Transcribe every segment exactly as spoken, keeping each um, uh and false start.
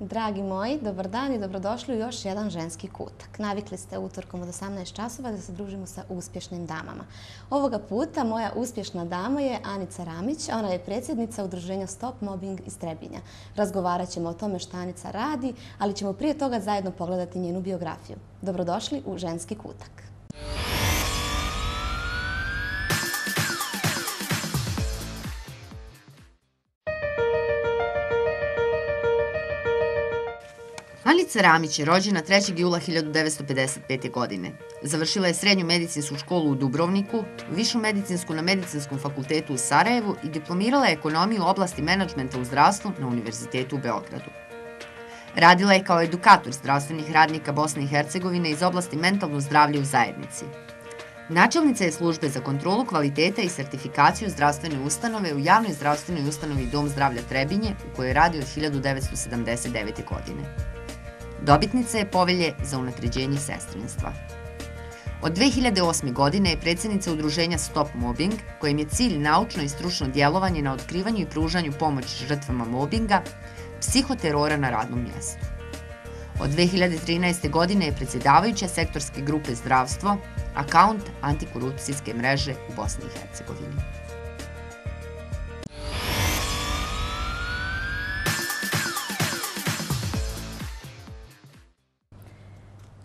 Dragi moji, dobar dan i dobrodošli u još jedan ženski kutak. Navikli ste utorkom od osamnaest časova da se družimo sa uspješnim damama. Ovoga puta moja uspješna dama je Anica Ramić. Ona je predsjednica udruženja Stop Mobbing iz Trebinja. Razgovarat ćemo o tome što Anica radi, ali ćemo prije toga zajedno pogledati njenu biografiju. Dobrodošli u ženski kutak. Anica Ramić je rođena trećeg jula hiljadu devetsto pedeset pete. godine. Završila je srednju medicinsku školu u Dubrovniku, višu medicinsku na Medicinskom fakultetu u Sarajevu i diplomirala je ekonomiju u oblasti menadžmenta u zdravstvu na Univerzitetu u Beogradu. Radila je kao edukator zdravstvenih radnika Bosne i Hercegovine iz oblasti mentalno zdravlje u zajednici. Načelnica je službe za kontrolu kvaliteta i sertifikaciju zdravstvene ustanove u javnoj zdravstvenoj ustanovi Dom zdravlja Trebinje, u kojoj radi od hiljadu devetsto sedamdeset devete. godine. Dobitnica je povelje za unapređenje sestrinstva. Od dve hiljade osme. godine je predsjednica udruženja Stop Mobbing, kojem je cilj naučno i stručno djelovanje na otkrivanju i pružanju pomoći žrtvama mobinga, psihoterora na radnom mjestu. Od dve hiljade trinaeste. godine je predsjedavajuća sektorske grupe zdravstvo, akaunt antikorupcijske mreže u Bosni i Hercegovini.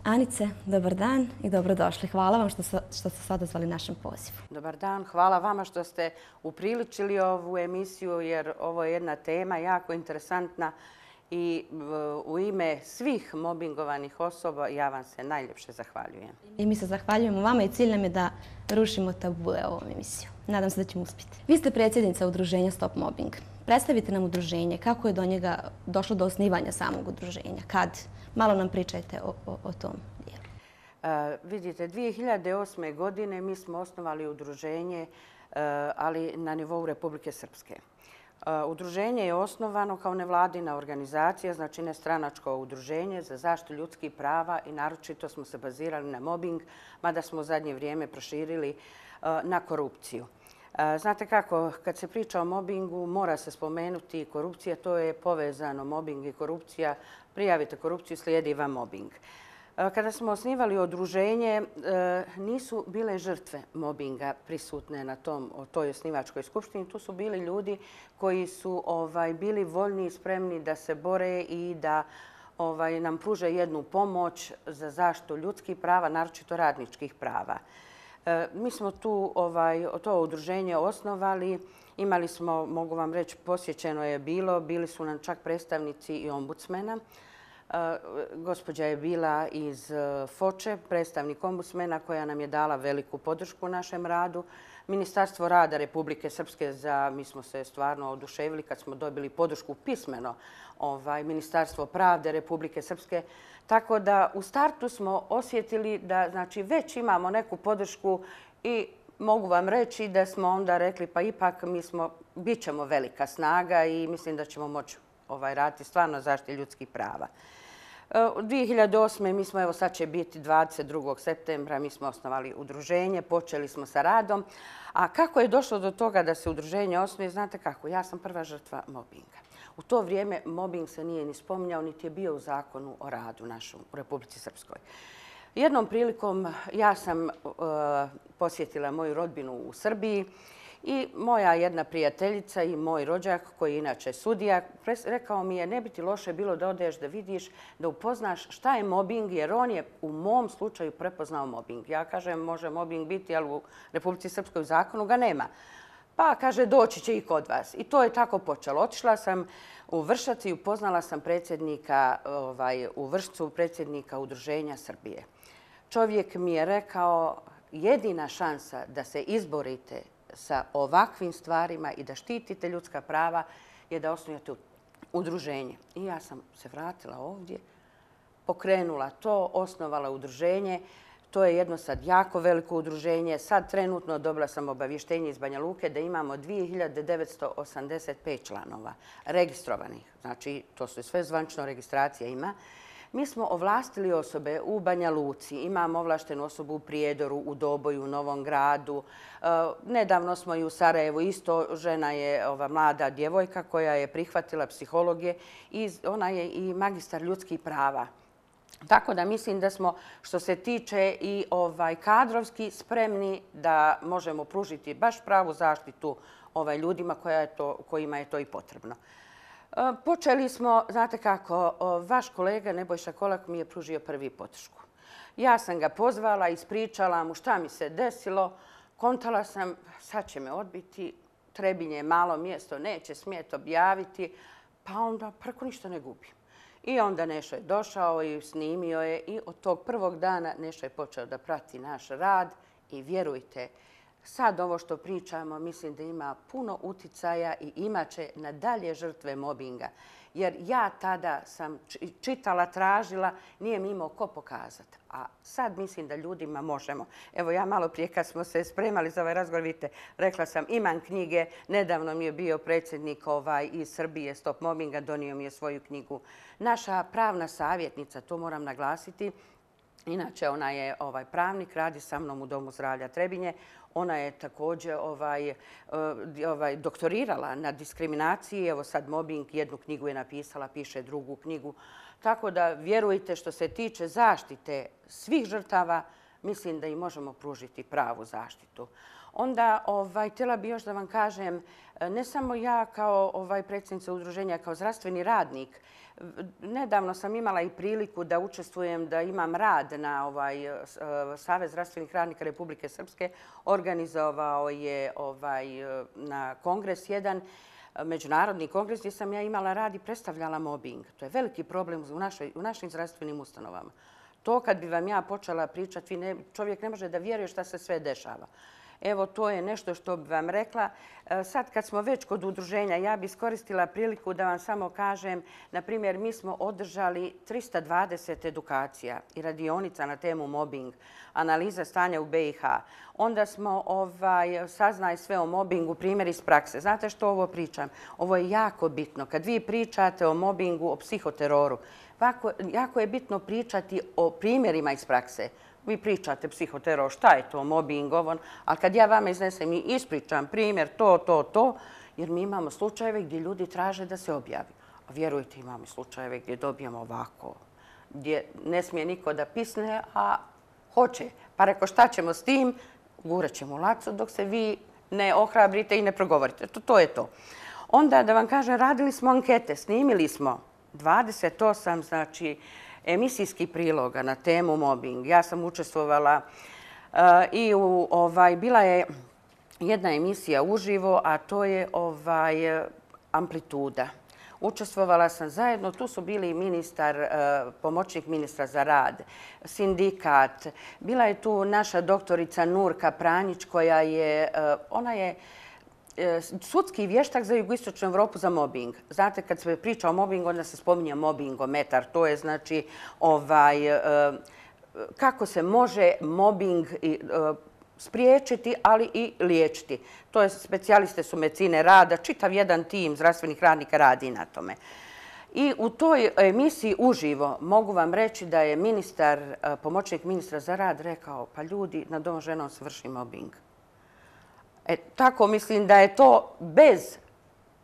Anice, dobar dan i dobrodošli. Hvala vam što, što ste se odazvali našem pozivu. Dobar dan, hvala vama što ste upriličili ovu emisiju jer ovo je jedna tema jako interesantna i u ime svih mobingovanih osoba ja vam se najljepše zahvaljujem. I mi se zahvaljujemo vama i cilj nam je da rušimo tabule ovom emisiju. Nadam se da ćemo uspjeti. Vi ste predsjednica udruženja Stop Mobbing. Predstavite nam udruženje, kako je do njega došlo do osnivanja samog udruženja, kad? Malo nam pričajte o, o, o tom dijelu. Uh, vidite, dvije hiljade osme. godine mi smo osnovali udruženje, uh, ali na nivou Republike Srpske. Uh, udruženje je osnovano kao nevladina organizacija, znači nestranačko udruženje za zaštitu ljudskih prava i naročito smo se bazirali na mobbing, mada smo u zadnje vrijeme proširili uh, na korupciju. Znate kako, kad se priča o mobingu, mora se spomenuti korupcija, to je povezano, mobing i korupcija. Prijavite korupciju, slijedi vam mobing. Kada smo osnivali udruženje, nisu bile žrtve mobinga prisutne na tom, toj osnivačkoj skupštini. Tu su bili ljudi koji su ovaj, bili voljni i spremni da se bore i da ovaj, nam pruže jednu pomoć za zaštitu ljudskih prava, naročito radničkih prava. Mi smo tu ovaj, to udruženje osnovali. Imali smo, mogu vam reći, posjećeno je bilo. Bili su nam čak predstavnici i ombudsmena. Gospođa je bila iz Foče, predstavnik ombudsmena koja nam je dala veliku podršku u našem radu. Ministarstvo rada Republike Srpske, za, mi smo se stvarno oduševili kad smo dobili podršku pismeno, ovaj, Ministarstvo pravde Republike Srpske. Tako da u startu smo osjetili da znači, već imamo neku podršku i mogu vam reći da smo onda rekli pa ipak mi smo, bit ćemo velika snaga i mislim da ćemo moći ovaj, raditi stvarno zaštiti ljudskih prava. U dvije hiljade osme. mi smo, evo sad će biti dvadeset drugog septembra, mi smo osnovali udruženje, počeli smo sa radom. A kako je došlo do toga da se udruženje osnuje, znate kako, ja sam prva žrtva mobinga. U to vrijeme mobbing se nije ni spominjao, niti je bio u zakonu o radu našom u Republici Srpskoj. Jednom prilikom ja sam uh, posjetila moju rodbinu u Srbiji i moja jedna prijateljica i moj rođak, koji je inače sudija, rekao mi je ne bi ti loše bilo da odeš da vidiš, da upoznaš šta je mobbing, jer on je u mom slučaju prepoznao mobbing. Ja kažem može mobbing biti, ali u Republici Srpskoj u zakonu ga nema. Pa kaže doći će i kod vas. I to je tako počelo. Otišla sam u Vršac i upoznala sam predsjednika ovaj, u Vršcu, predsjednika Udruženja Srbije. Čovjek mi je rekao jedina šansa da se izborite sa ovakvim stvarima i da štitite ljudska prava je da osnujete udruženje. I ja sam se vratila ovdje, pokrenula to, osnovala udruženje. To je jedno sad jako veliko udruženje. Sad trenutno dobila sam obavještenje iz Banja Luke da imamo dvije hiljade devetsto osamdeset pet članova registrovanih. Znači, to su sve zvančno registracija ima. Mi smo ovlastili osobe u Banja Luci, imamo ovlaštenu osobu u Prijedoru, u Doboju, u Novom Gradu. Nedavno smo i u Sarajevu, isto žena je ova mlada djevojka koja je prihvatila psihologije i ona je i magistar ljudskih prava. Tako da mislim da smo, što se tiče i ovaj kadrovski, spremni da možemo pružiti baš pravu zaštitu ovaj ljudima koja je to, kojima je to i potrebno. Počeli smo, znate kako, vaš kolega Nebojša Kolak mi je pružio prvi podršku. Ja sam ga pozvala, ispričala mu šta mi se desilo, kontala sam, sad će me odbiti, Trebinje je malo mjesto, neće smjeti objaviti, pa onda preko ništa ne gubim. I onda Nešo je došao i snimio je i od tog prvog dana Nešo je počeo da prati naš rad i vjerujte, sad ovo što pričamo mislim da ima puno uticaja i imaće na dalje žrtve mobinga. Jer ja tada sam čitala, tražila, nije mi imao ko pokazati. A sad mislim da ljudima možemo. Evo ja malo prije kad smo se spremali za ovaj razgovor, vidite, rekla sam imam knjige. Nedavno mi je bio predsjednik ovaj, iz Srbije Stop Mobbinga, donio mi je svoju knjigu. Naša pravna savjetnica, to moram naglasiti, inače ona je ovaj, pravnik, radi sa mnom u Domu zdravlja Trebinje. Ona je također ovaj, ovaj, doktorirala na diskriminaciji. Evo sad mobbing, jednu knjigu je napisala, piše drugu knjigu. Tako da vjerujte što se tiče zaštite svih žrtava, mislim da im možemo pružiti pravu zaštitu. Onda ovaj, htjela bih još da vam kažem, ne samo ja kao ovaj, predsjednica udruženja, kao zdravstveni radnik, nedavno sam imala i priliku da učestvujem, da imam rad na ovaj, Savez zdravstvenih radnika Republike Srpske. Organizovao je ovaj, na kongres jedan međunarodni kongres gdje sam ja imala rad i predstavljala mobbing. To je veliki problem u, našoj, u našim zdravstvenim ustanovama. To kad bi vam ja počela pričati, ne, čovjek ne može da vjeruje šta se sve dešava. Evo, to je nešto što bi vam rekla. Sad kad smo već kod udruženja, ja bi iskoristila priliku da vam samo kažem, na primjer, mi smo održali trista dvadeset edukacija i radionica na temu mobbing, analiza stanja u be i ha. Onda smo ovaj, saznali sve o mobbingu, primjer iz prakse. Znate što ovo pričam? Ovo je jako bitno. Kad vi pričate o mobbingu, o psihoteroru, jako, jako je bitno pričati o primjerima iz prakse. Vi pričate psihoteror, šta je to, mobbing, ovo, ali kad ja vama iznesem i ispričam primjer, to, to, to, jer mi imamo slučajeve gdje ljudi traže da se objavi. A vjerujte, imamo slučajeve gdje dobijamo ovako, gdje ne smije niko da pisne, a hoće. Pa reko, šta ćemo s tim? Gurat ćemo u lacu dok se vi ne ohrabrite i ne progovorite. To, to je to. Onda, da vam kažem, radili smo ankete, snimili smo dvadeset osam, znači, emisijskih priloga na temu mobbing. Ja sam učestvovala uh, i u, ovaj, bila je jedna emisija uživo, a to je ovaj, Amplituda. Učestvovala sam zajedno, tu su bili ministar, uh, pomoćnik ministra za rad, sindikat. Bila je tu naša doktorica Nurka Pranjić koja je, uh, ona je sudski vještak za jugoistočnu Evropu za mobbing. Znate, kad se priča o mobbingu, onda se spominje mobbingometar. To je znači ovaj, kako se može mobbing spriječiti, ali i liječiti. To je, specijaliste su medicine rada, čitav jedan tim zdravstvenih radnika radi na tome. I u toj emisiji uživo mogu vam reći da je ministar, pomoćnik ministra za rad rekao, pa ljudi, nad ovom ženom se vrši mobbing. E, tako mislim da je to bez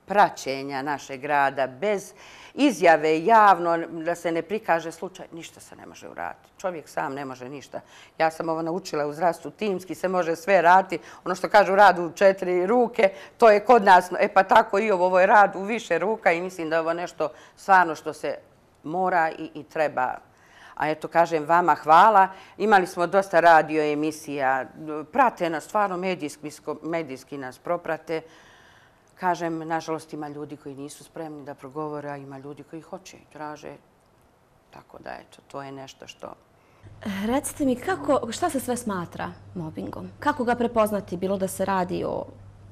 praćenja našeg rada, bez izjave javno, da se ne prikaže slučaj, ništa se ne može uraditi. Čovjek sam ne može ništa. Ja sam ovo naučila u zdravstvu, timski se može sve raditi. Ono što kažu rad u četiri ruke, to je kod nas. E pa tako i ovo, ovo je rad u više ruka i mislim da je ovo nešto stvarno što se mora i, i treba. A eto, kažem vama hvala. Imali smo dosta radio emisija. Prate nas, stvarno medijski, medijski nas proprate. Kažem, nažalost, ima ljudi koji nisu spremni da progovore, a ima ljudi koji hoće i traže. Tako da, eto, to je nešto što... Recite mi, kako, šta se sve smatra mobbingom? Kako ga prepoznati? Bilo da se radi o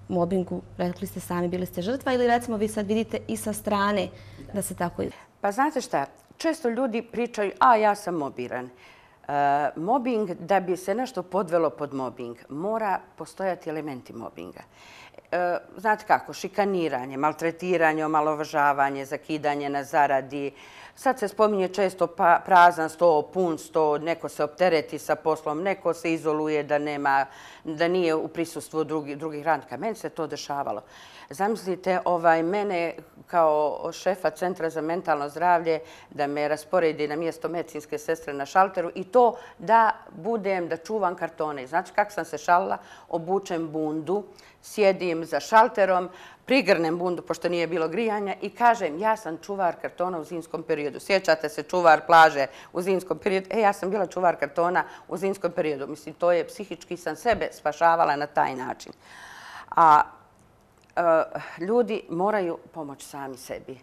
mobbingu, rekli ste sami, bili ste žrtva, ili recimo vi sad vidite i sa strane da se tako... Pa znate šta? Često ljudi pričaju, a ja sam mobiran. E, mobbing, da bi se nešto podvelo pod mobbing, mora postojati elementi mobbinga. znate kako, šikaniranje, maltretiranje, omalovažavanje, zakidanje na zaradi. Sad se spominje često prazan sto, pun sto, neko se optereti sa poslom, neko se izoluje da nema, da nije u prisustvu drugih radnika. Meni se to dešavalo. Zamislite, ovaj, mene kao šefa Centra za mentalno zdravlje da me rasporedi na mjesto medicinske sestre na šalteru i to da budem, da čuvam kartone. Znači kako sam se šalila, obučem bundu, sjedim za šalterom, prigrnem bundu pošto nije bilo grijanja i kažem ja sam čuvar kartona u zimskom periodu. Sjećate se čuvar plaže u zimskom periodu? E, ja sam bila čuvar kartona u zimskom periodu. Mislim, to je psihički sam sebe spašavala na taj način. A ljudi moraju pomoći sami sebi.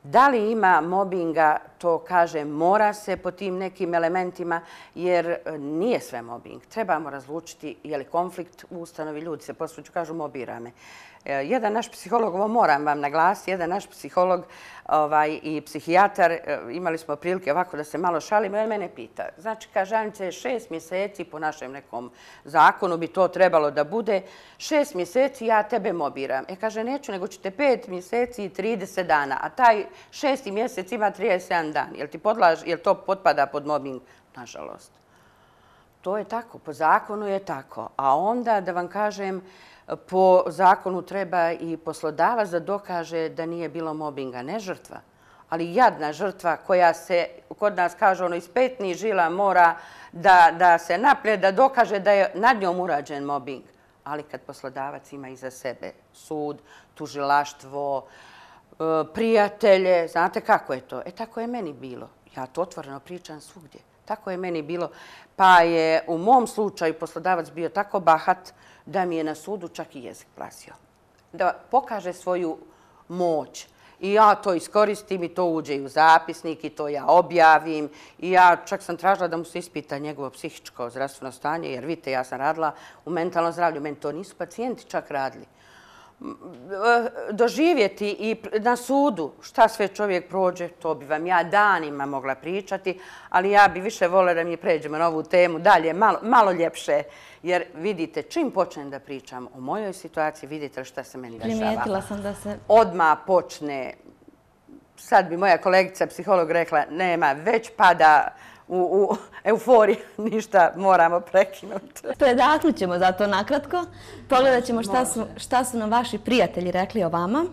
Da li ima mobinga, to kažem, mora se po tim nekim elementima, jer nije sve mobing. Trebamo razlučiti je li konflikt u ustanovi, ljudi se posluću, kažu mobira me. Jedan naš psiholog, ovo moram vam naglasiti, jedan naš psiholog i psihijatar, imali smo prilike ovako da se malo šalimo, on mene pita. Znači, kaže, Anice, šest mjeseci po našem nekom zakonu bi to trebalo da bude, šest mjeseci ja tebe mobiram. E, kaže, neću, nego ćete pet mjeseci i trideset dana, a taj šesti mjesec ima trideset sedam dan. Jel ti podlaž, jel to potpada pod mobing? Nažalost. To je tako, po zakonu je tako. A onda, da vam kažem, po zakonu treba i poslodavac da dokaže da nije bilo mobinga, ne žrtva, ali jadna žrtva koja se, kod nas kaže, ono iz petnih žila mora da se naplje, da dokaže da je nad njom urađen mobing. Ali kad poslodavac ima iza sebe sud, tužilaštvo, prijatelje, znate kako je to? E, tako je meni bilo. Ja to otvoreno pričam svugdje. Tako je meni bilo. Pa je u mom slučaju poslodavac bio tako bahat da mi je na sudu čak i jezik plasio. Da pokaže svoju moć. I ja to iskoristim i to uđe i u zapisnik i to ja objavim. I ja čak sam tražila da mu se ispita njegovo psihičko zdravstveno stanje, jer vidite, ja sam radila u mentalnom zdravlju. Meni to nisu pacijenti čak radili. Doživjeti i na sudu šta sve čovjek prođe, to bi vam ja danima mogla pričati, ali ja bi više voljela da mi pređemo na ovu temu dalje, malo, malo ljepše. Jer vidite, čim počnem da pričam o mojoj situaciji, vidite šta se meni dešava. Primijetila sam da se... Odmah počne, sad bi moja kolegica psiholog rekla, nema, već pada u euforiji, ništa, moramo prekinuti. Predahnut ćemo zato nakratko. Pogledat ćemo šta su nam vaši prijatelji rekli o vama.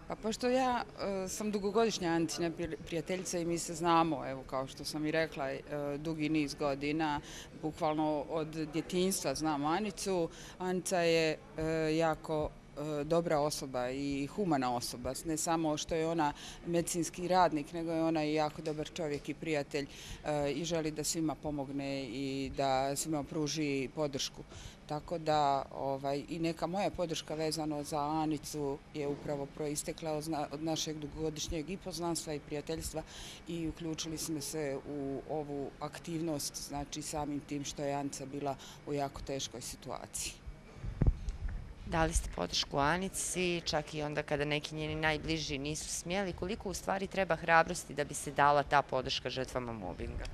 Pa pošto ja sam dugogodišnja Anicina prijateljica i mi se znamo, evo kao što sam i rekla, dugi niz godina, bukvalno od djetinjstva znam Anicu. Anica je jako dobra osoba i humana osoba. Ne samo što je ona medicinski radnik, nego je ona i jako dobar čovjek i prijatelj i želi da svima pomogne i da svima pruži podršku. Tako da i neka moja podrška vezano za Anicu je upravo proistekla od našeg dugogodišnjeg i poznanstva i prijateljstva i uključili smo se u ovu aktivnost, znači samim tim što je Anica bila u jako teškoj situaciji. Dali ste podršku Anici, čak i onda kada neki njeni najbliži nisu smjeli. Koliko u stvari treba hrabrosti da bi se dala ta podrška žrtvama mobinga?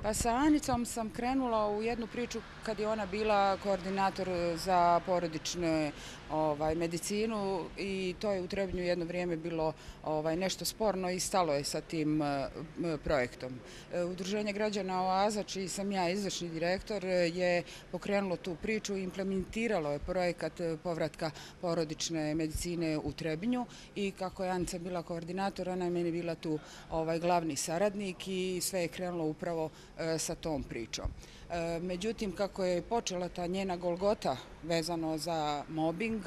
Pa sa Anicom sam krenula u jednu priču kad je ona bila koordinator za porodičnu medicinu i to je u Trebinju jedno vrijeme bilo nešto sporno i stalo je sa tim projektom. Udruženje građana Oaza, čiji sam ja izvršni direktor, je pokrenulo tu priču i implementiralo je projekat povratka porodične medicine u Trebinju i kako je Anica bila koordinator, ona je meni bila tu glavni saradnik i sve je krenulo upravo sa tom pričom. Međutim, kako je počela ta njena golgota vezano za mobing,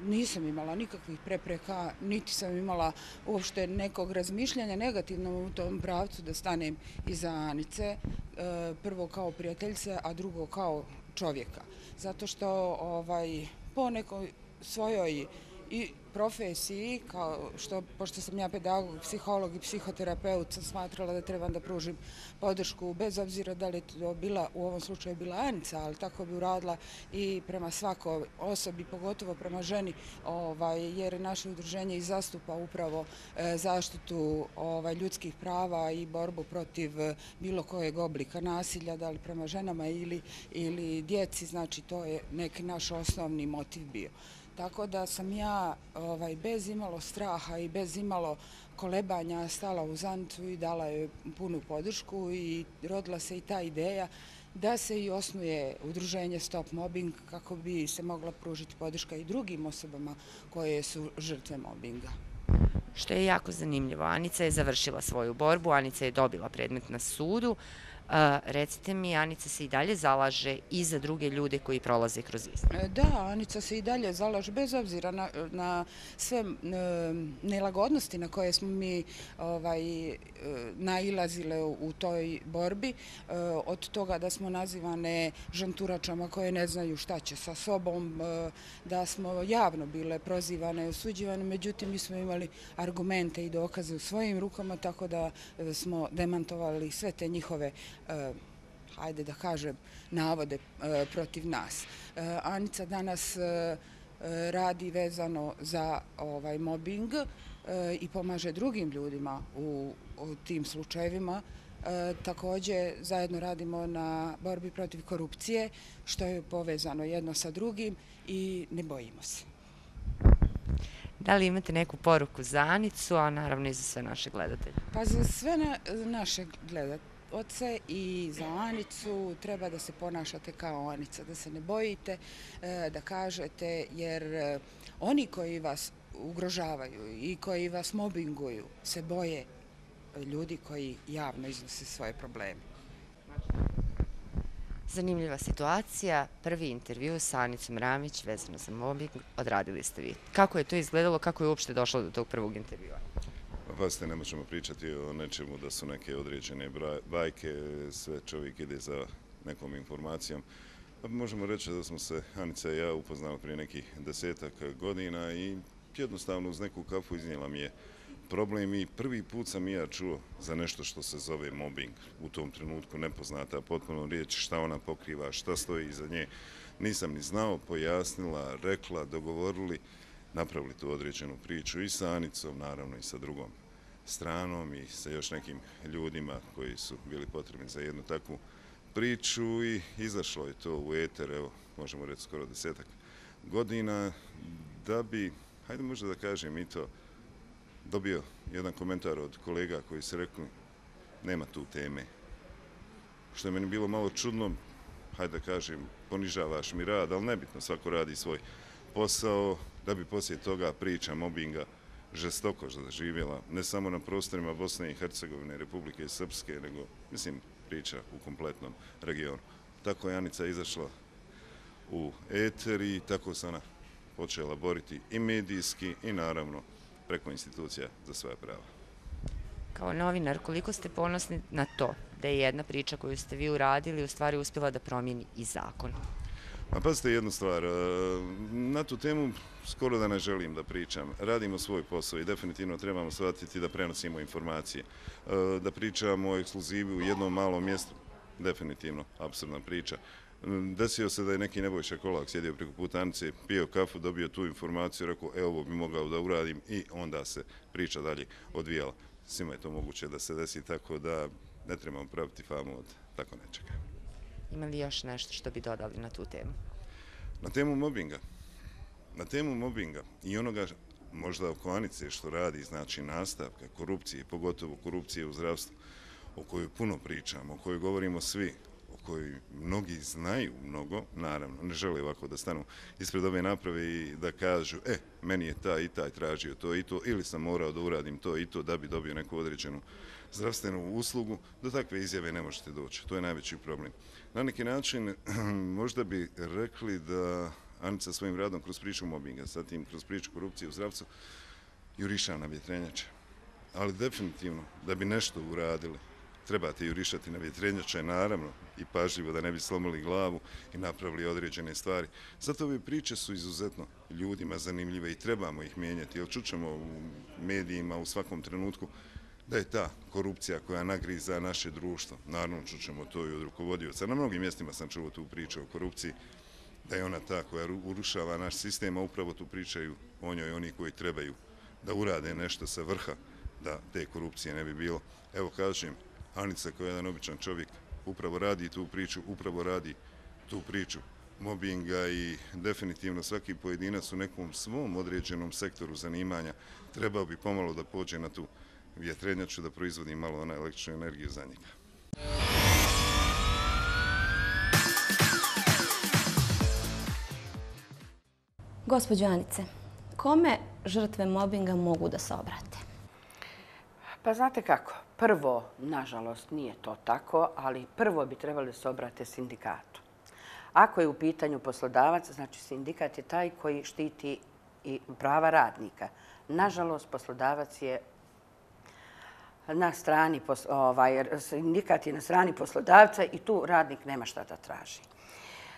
nisam imala nikakvih prepreka, niti sam imala uopšte nekog razmišljanja negativno u tom pravcu da stanem iza Anice, prvo kao prijateljice, a drugo kao čovjeka. Zato što po nekoj svojoj i profesiji, kao što, pošto sam ja pedagog, psiholog i psihoterapeut, sam smatrala da trebam da pružim podršku, bez obzira da li je to bila, u ovom slučaju bila Anica, ali tako bi uradila i prema svakoj osobi, pogotovo prema ženi, ovaj, jer naše udruženje i zastupa upravo e, zaštitu ovaj, ljudskih prava i borbu protiv e, bilo kojeg oblika nasilja, da li prema ženama ili, ili djeci, znači to je neki naš osnovni motiv bio. Tako da sam ja ovaj, bez imalo straha i bez imalo kolebanja stala uz Anicu i dala joj punu podršku i rodila se i ta ideja da se i osnuje udruženje Stop Mobbing kako bi se mogla pružiti podrška i drugim osobama koje su žrtve mobbinga. Što je jako zanimljivo, Anica je završila svoju borbu, Anica je dobila predmet na sudu. Uh, recite mi, Anica se i dalje zalaže i za druge ljude koji prolaze kroz isto. Da, Anica se i dalje zalaže, bez obzira na, na sve e, nelagodnosti na koje smo mi ovaj, e, nailazile u, u toj borbi, e, od toga da smo nazivane žanturačama koje ne znaju šta će sa sobom, e, da smo javno bile prozivane i osuđivane, međutim mi smo imali argumente i dokaze u svojim rukama, tako da e, smo demantovali sve te njihove Uh, hajde da kažem, navode uh, protiv nas. Uh, Anica danas uh, radi vezano za ovaj mobbing uh, i pomaže drugim ljudima u, u tim slučajevima. Uh, također zajedno radimo na borbi protiv korupcije, što je povezano jedno sa drugim i ne bojimo se. Da li imate neku poruku za Anicu, a naravno i za sve naše gledatelje? Pa za sve na, naše gledatelje oce i za Anicu treba da se ponašate kao Anica, da se ne bojite, da kažete, jer oni koji vas ugrožavaju i koji vas mobinguju se boje ljudi koji javno iznose svoje probleme. Zanimljiva situacija, prvi intervju sa Anicom Ramić vezano za mobbing odradili ste vi. Kako je to izgledalo, kako je uopšte došlo do tog prvog intervjua? Pazite, ne možemo pričati o nečemu da su neke određene bajke, sve čovjek ide za nekom informacijom. Možemo reći da smo se Anica i ja upoznali prije nekih desetak godina i jednostavno uz neku kafu iznijela mi je problem i prvi put sam i ja čuo za nešto što se zove mobbing. U tom trenutku nepoznata potpuno riječ, šta ona pokriva, šta stoji iza nje. Nisam ni znao, pojasnila, rekla, dogovorili, napravili tu određenu priču i sa Anicom, naravno i sa drugom stranom i sa još nekim ljudima koji su bili potrebni za jednu takvu priču i izašlo je to u eter, evo, možemo reći skoro desetak godina, da bi, hajde možda da kažem i to, dobio jedan komentar od kolega koji su rekli nema tu teme. Što je meni bilo malo čudno, hajde da kažem, ponižavaš mi rad, ali nebitno, svako radi svoj posao, da bi poslije toga priča mobinga žestoko zaživjela, ne samo na prostorima Bosne i Hercegovine, Republike Srpske, nego, mislim, priča u kompletnom regionu. Tako je Anica izašla u eter i tako se ona počela boriti i medijski i naravno preko institucija za svoja prava. Kao novinar, koliko ste ponosni na to da je jedna priča koju ste vi uradili u stvari uspjela da promijeni i zakon? A pazite jednu stvar, na tu temu skoro da ne želim da pričam. Radimo svoj posao i definitivno trebamo shvatiti da prenosimo informacije. Da pričamo o ekskluzivi u jednom malom mjestu, definitivno, apsurdna priča. Desio se da je neki Nebojša Kolak sjedio preko puta Anice, pio kafu, dobio tu informaciju, rekao, e, ovo bi mogao da uradim i onda se priča dalje odvijala. Svima je to moguće da se desi, tako da ne trebamo praviti famu od tako nečega. Ima li još nešto što bi dodali na tu temu? Na temu mobinga. Na temu mobinga i onoga možda oko Anice što radi, znači nastavka korupcije, pogotovo korupcije u zdravstvu, o kojoj puno pričamo, o kojoj govorimo svi, o kojoj mnogi znaju mnogo, naravno, ne žele ovako da stanu ispred ove naprave i da kažu, e, meni je taj i taj tražio to i to, ili sam morao da uradim to i to da bi dobio neku određenu zdravstvenu uslugu, do takve izjave ne možete doći. To je najveći problem. Na neki način, možda bi rekli da Anica svojim radom kroz priču mobinga, zatim kroz priču korupcije u zdravstvu, juriša na vjetrenjače. Ali definitivno, da bi nešto uradili, trebate jurišati na vjetrenjače, naravno, i pažljivo da ne bi slomili glavu i napravili određene stvari. Zato ove priče su izuzetno ljudima zanimljive i trebamo ih mijenjati, jer čućemo u medijima u svakom trenutku da je ta korupcija koja nagriza naše društvo. Naravno, čućemo to i od rukovodioca. Na mnogim mjestima sam čuo tu priču o korupciji, da je ona ta koja urušava naš sistem, a upravo tu pričaju o njoj oni koji trebaju da urade nešto sa vrha, da te korupcije ne bi bilo. Evo kažem, Anica koja je jedan običan čovjek upravo radi tu priču, upravo radi tu priču mobinga i definitivno svaki pojedinac u nekom svom određenom sektoru zanimanja trebao bi pomalo da pođe na tu vjetrenjaču da proizvodi malo ona električnu energiju za njega. Gospođo Anice, kome žrtve mobinga mogu da se obrate? Pa znate kako, prvo, nažalost, nije to tako, ali prvo bi trebali da se obrate sindikatu. Ako je u pitanju poslodavac, znači sindikat je taj koji štiti i prava radnika. Nažalost, poslodavac je na strani, ovaj, sindikat je na strani poslodavca i tu radnik nema šta da traži.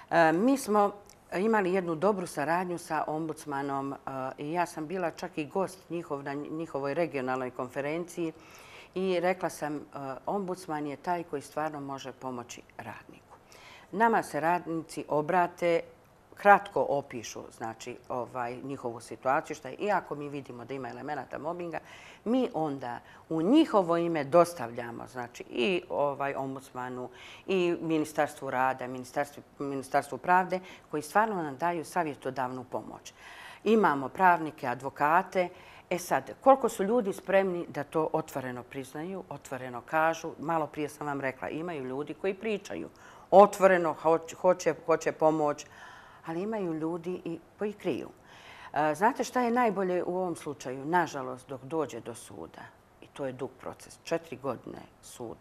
E, mi smo imali jednu dobru saradnju sa ombudsmanom i ja sam bila čak i gost njihov na njihovoj regionalnoj konferenciji i rekla sam ombudsman je taj koji stvarno može pomoći radniku. Nama se radnici obrate, kratko opišu znači, ovaj, njihovu situaciju, što je, iako mi vidimo da ima elemenata mobinga, mi onda u njihovo ime dostavljamo znači, i ovaj, ombudsmanu, i Ministarstvu rada, Ministarstvu, Ministarstvu pravde, koji stvarno nam daju savjetodavnu pomoć. Imamo pravnike, advokate. E sad, koliko su ljudi spremni da to otvoreno priznaju, otvoreno kažu, malo prije sam vam rekla, imaju ljudi koji pričaju, otvoreno hoće, hoće pomoć, ali imaju ljudi i koji kriju. Znate šta je najbolje u ovom slučaju? Nažalost, dok dođe do suda, i to je dug proces, četiri godine sud,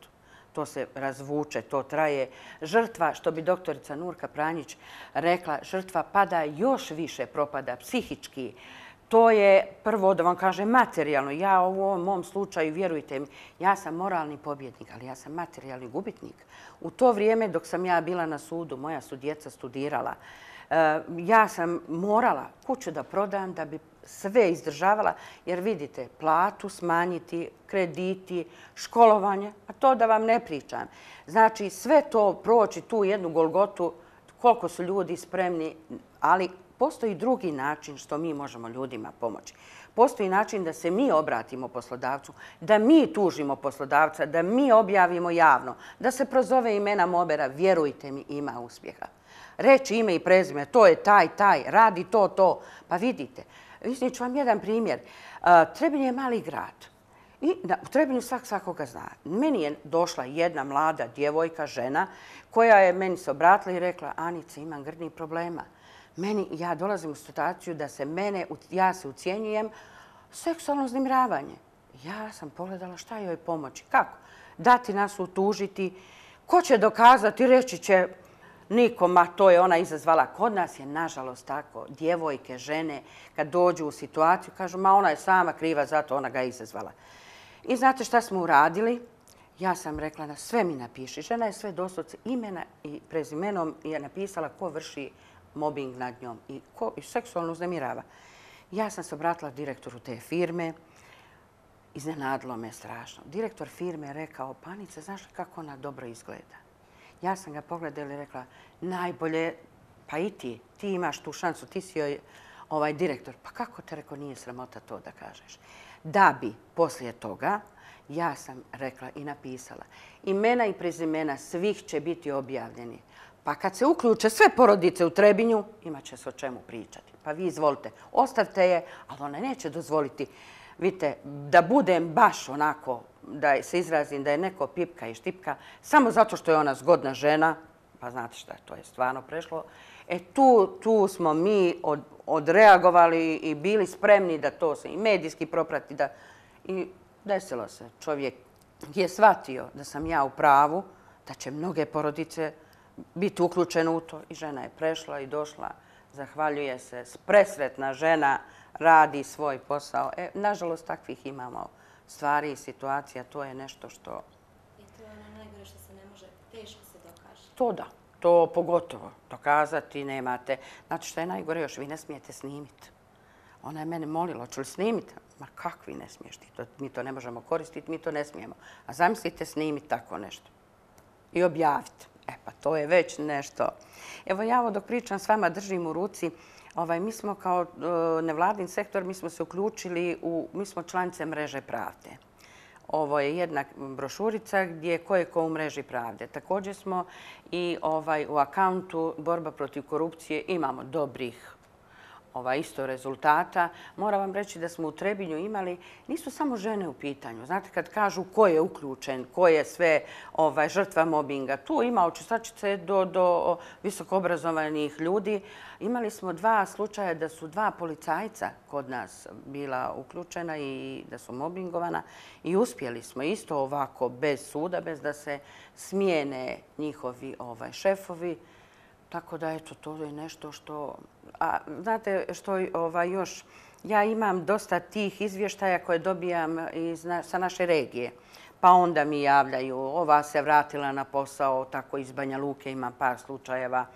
to se razvuče, to traje. Žrtva, što bi doktorica Nurka Pranjić rekla, žrtva pada još više, propada psihički. To je prvo, da vam kažem, materijalno. Ja u ovom mom slučaju, vjerujte mi, ja sam moralni pobjednik, ali ja sam materijalni gubitnik. U to vrijeme dok sam ja bila na sudu, moja su djeca studirala, ja sam morala kuću da prodam da bi sve izdržavala, jer vidite, platu smanjiti, krediti, školovanje, a to da vam ne pričam. Znači, sve to proći tu jednu golgotu, koliko su ljudi spremni, ali postoji drugi način što mi možemo ljudima pomoći. Postoji način da se mi obratimo poslodavcu, da mi tužimo poslodavca, da mi objavimo javno, da se prozove imena mobera, vjerujte mi, ima uspjeha. Reći ime i prezime, to je taj, taj, radi to, to. Pa vidite, iznijet ću vam jedan primjer. Trebinj je mali grad. I u Trebinju svak svakoga zna. Meni je došla jedna mlada djevojka, žena, koja je meni se obratila i rekla, Anica, imam grdnih problema. Meni, ja dolazim u situaciju da se mene, ja se ucijenjujem, seksualno uznemiravanje. Ja sam pogledala šta joj pomoći. Kako? Dati nas utužiti. Ko će dokazati, reći će nikom, ma to je ona izazvala. Kod nas je nažalost tako. Djevojke, žene, kad dođu u situaciju, kažu, ma ona je sama kriva, zato ona ga je izazvala. I znate šta smo uradili? Ja sam rekla da sve mi napiši. Žena je sve doslovce imena i prezimenom je napisala ko vrši mobbing nad njom i ko i seksualno uznemirava. Ja sam se obratila direktoru te firme. Iznenadilo me strašno. Direktor firme je rekao, Panica, znaš li kako ona dobro izgleda? Ja sam ga pogledala i rekla, najbolje, pa i ti, ti imaš tu šansu, ti si joj ovaj direktor. Pa kako te rekao, nije sramota to da kažeš? Da bi poslije toga, ja sam rekla i napisala, imena i prezimena svih će biti objavljeni. Pa kad se uključe sve porodice u Trebinju, imat će se o čemu pričati. Pa vi izvolite, ostavte je, ali ona neće dozvoliti, vidite, da budem baš onako, da se izrazim da je neko pipka i štipka, samo zato što je ona zgodna žena, pa znate šta, to je stvarno prešlo. E tu, tu smo mi od, odreagovali i bili spremni da to se i medijski proprati. Da, i desilo se. Čovjek je shvatio da sam ja u pravu, da će mnoge porodice biti uključene u to. I žena je prešla i došla, zahvaljuje se, presretna žena, radi svoj posao. E, nažalost, takvih imamo stvari i situacija. To je nešto što... I to je To da, to pogotovo. Dokazati nemate. Znate što je najgore još? Vi ne smijete snimiti. Ona je mene molila, hoću li snimiti? Ma kakvi ne smiješ ti? Mi to ne možemo koristiti, mi to ne smijemo. A zamislite snimiti tako nešto. I objaviti. E pa to je već nešto. Evo ja ovo dok pričam s vama držim u ruci. Ovaj, mi smo kao nevladin sektor, mi smo se uključili u, mi smo članice Mreže pravde. Ovo je jedna brošurica gdje ko je ko u Mreži pravde. Također smo i ovaj, u akauntu borba protiv korupcije imamo dobrih Ova, isto rezultata. Moram vam reći da smo u Trebinju imali, nisu samo žene u pitanju. Znate, kad kažu ko je uključen, ko je sve ovaj, žrtva mobinga, tu ima od čistačice do, do visokoobrazovanih ljudi. Imali smo dva slučaja da su dva policajca kod nas bila uključena i da su mobingovana i uspjeli smo isto ovako bez suda, bez da se smijene njihovi ovaj, šefovi. Tako da, eto, to je nešto što... A znate što ovaj, još... Ja imam dosta tih izvještaja koje dobijam iz, sa naše regije. Pa onda mi javljaju, ova se vratila na posao, tako iz Banja Luke imam par slučajeva.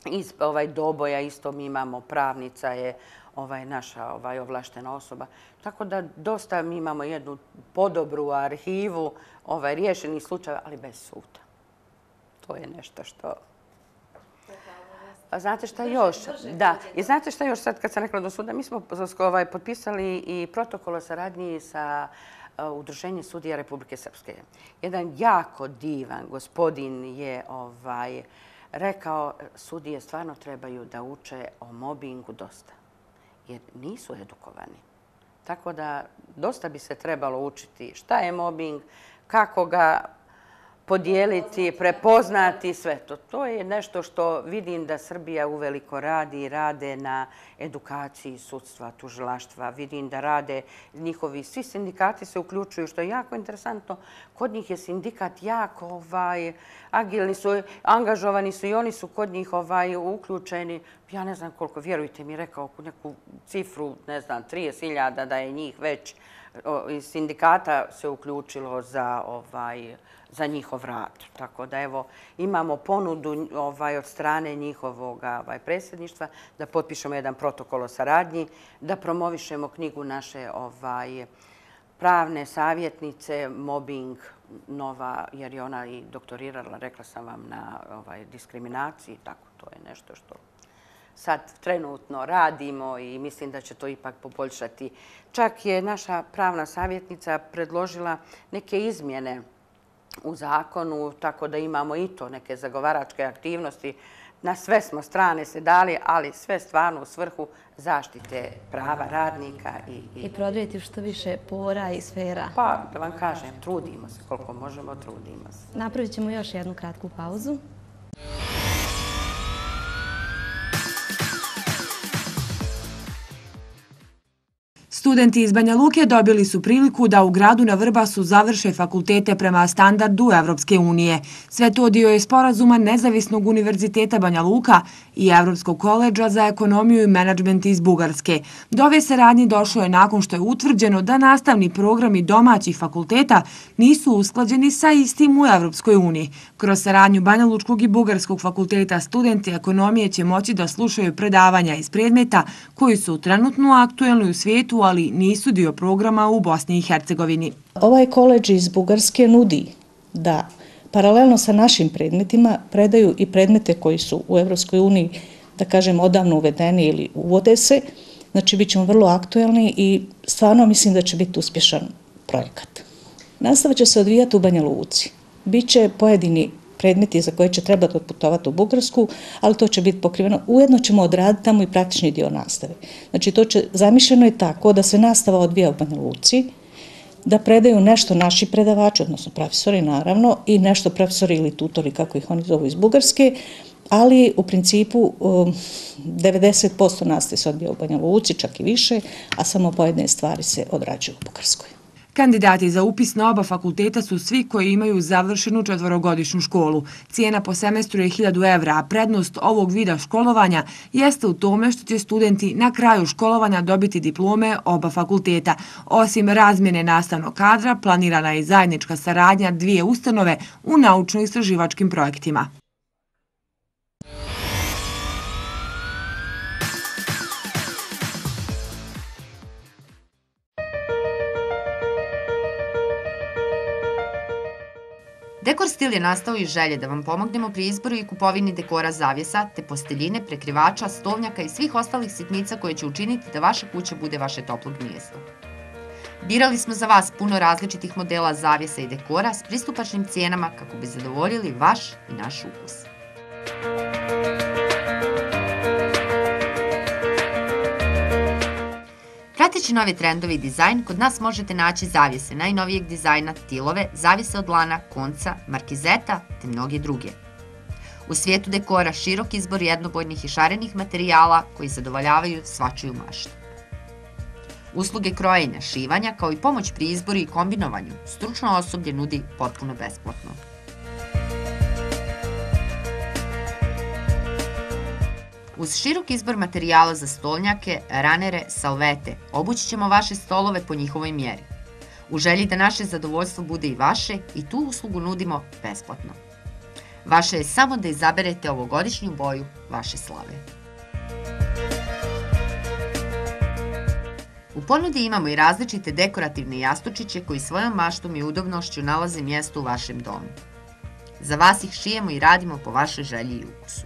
Iz ovaj, Doboja isto mi imamo, pravnica je ovaj, naša ovaj, ovlaštena osoba. Tako da dosta mi imamo jednu podobru arhivu ovaj, riješenih slučajeva, ali bez suda. To je nešto što... Znate šta još? Da. I znate šta još sad kad sam rekla do suda? Mi smo ovaj, potpisali i protokol o saradnji sa uh, Udruženjem sudija Republike Srpske. Jedan jako divan gospodin je ovaj, rekao sudije stvarno trebaju da uče o mobingu dosta. Jer nisu edukovani. Tako da dosta bi se trebalo učiti šta je mobing, kako ga podijeliti, prepoznati sve to. To je nešto što vidim da Srbija uveliko radi i rade na edukaciji sudstva, tužilaštva. Vidim da rade njihovi, svi sindikati se uključuju, što je jako interesantno. Kod njih je sindikat jako ovaj, agilni su, angažovani su i oni su kod njih ovaj, uključeni. Ja ne znam koliko, vjerujte mi, rekao neku cifru, ne znam, trideset hiljada da je njih već iz sindikata se uključilo za ovaj, za njihov rad. Tako da evo imamo ponudu ovaj, od strane njihovog ovaj, predsjedništva da potpišemo jedan protokol o saradnji, da promovišemo knjigu naše ovaj, pravne savjetnice, mobbing nova, jer je ona i doktorirala, rekla sam vam, na ovaj, diskriminaciji. Tako, to je nešto što sad trenutno radimo i mislim da će to ipak poboljšati. Čak je naša pravna savjetnica predložila neke izmjene u zakonu, tako da imamo i to neke zagovaračke aktivnosti. Na sve smo strane se dali, ali sve stvarno u svrhu zaštite prava radnika. I, i... I prodrijeti što više pora i sfera. Pa, da vam kažem, trudimo se koliko možemo, trudimo se. Napravit ćemo još jednu kratku pauzu. Studenti iz Banja Luke dobili su priliku da u gradu na Vrbasu završe fakultete prema standardu Evropske unije. Sve to dio je sporazuma Nezavisnog univerziteta Banja Luka i Evropskog koledža za ekonomiju i menadžment iz Bugarske. Do ove saradnje došlo je nakon što je utvrđeno da nastavni programi domaćih fakulteta nisu usklađeni sa istim u Evropskoj uniji. Kroz saradnju Banja Lučkog i Bugarskog fakulteta studenti ekonomije će moći da slušaju predavanja iz predmeta koji su trenutno aktuelni u svijetu, ali nisu dio programa u Bosni i Hercegovini. Ovaj koledž iz Bugarske nudi da paralelno sa našim predmetima predaju i predmete koji su u Evropskoj uniji, da kažem, odavno uvedeni ili uvode se. Znači, bit ćemo vrlo aktuelni i stvarno mislim da će biti uspješan projekat. Nastava će se odvijati u Banja Luci. Biće pojedini predmeti za koje će trebati otputovati u Bugarsku, ali to će biti pokriveno. Ujedno ćemo odraditi tamo i praktični dio nastave. Znači, to će, zamišljeno je tako da se nastava odvija u Banja Luci, da predaju nešto naši predavači, odnosno profesori naravno, i nešto profesori ili tutori, kako ih oni zovu, iz Bugarske, ali u principu devedeset posto nastave se odvija u Banja Luci, čak i više, a samo pojedine stvari se odrađuju u Bugarskoj. Kandidati za upis na oba fakulteta su svi koji imaju završenu četvorogodišnju školu. Cijena po semestru je hiljadu evra, a prednost ovog vida školovanja jeste u tome što će studenti na kraju školovanja dobiti diplome oba fakulteta. Osim razmjene nastavnog kadra, planirana je zajednička saradnja dvije ustanove u naučno-istraživačkim projektima. Dekor stil je nastao iz želje da vam pomognemo pri izboru i kupovini dekora zavjesa, te posteljine, prekrivača, stolnjaka i svih ostalih sitnica koje će učiniti da vaša kuća bude vaše toplo gnijezdo. Birali smo za vas puno različitih modela zavjesa i dekora s pristupačnim cijenama kako bi zadovoljili vaš i naš ukus. Prateći nove trendove i dizajn, kod nas možete naći zavjese najnovijeg dizajna, tilove, zavjese od lana, konca, markizeta te mnoge druge. U svijetu dekora širok izbor jednobojnih i šarenih materijala koji zadovoljavaju svačiju maštu. Usluge krojenja, šivanja kao i pomoć pri izboru i kombinovanju stručno osoblje nudi potpuno besplatno. Uz širok izbor materijala za stolnjake, ranere, salvete, obući ćemo vaše stolove po njihovoj mjeri. U želji da naše zadovoljstvo bude i vaše, i tu uslugu nudimo besplatno. Vaše je samo da izaberete ovogodišnju boju vaše slave. U ponudi imamo i različite dekorativne jastučiće koji svojom maštom i udobnošću nalaze mjesto u vašem domu. Za vas ih šijemo i radimo po vašoj želji i ukusu.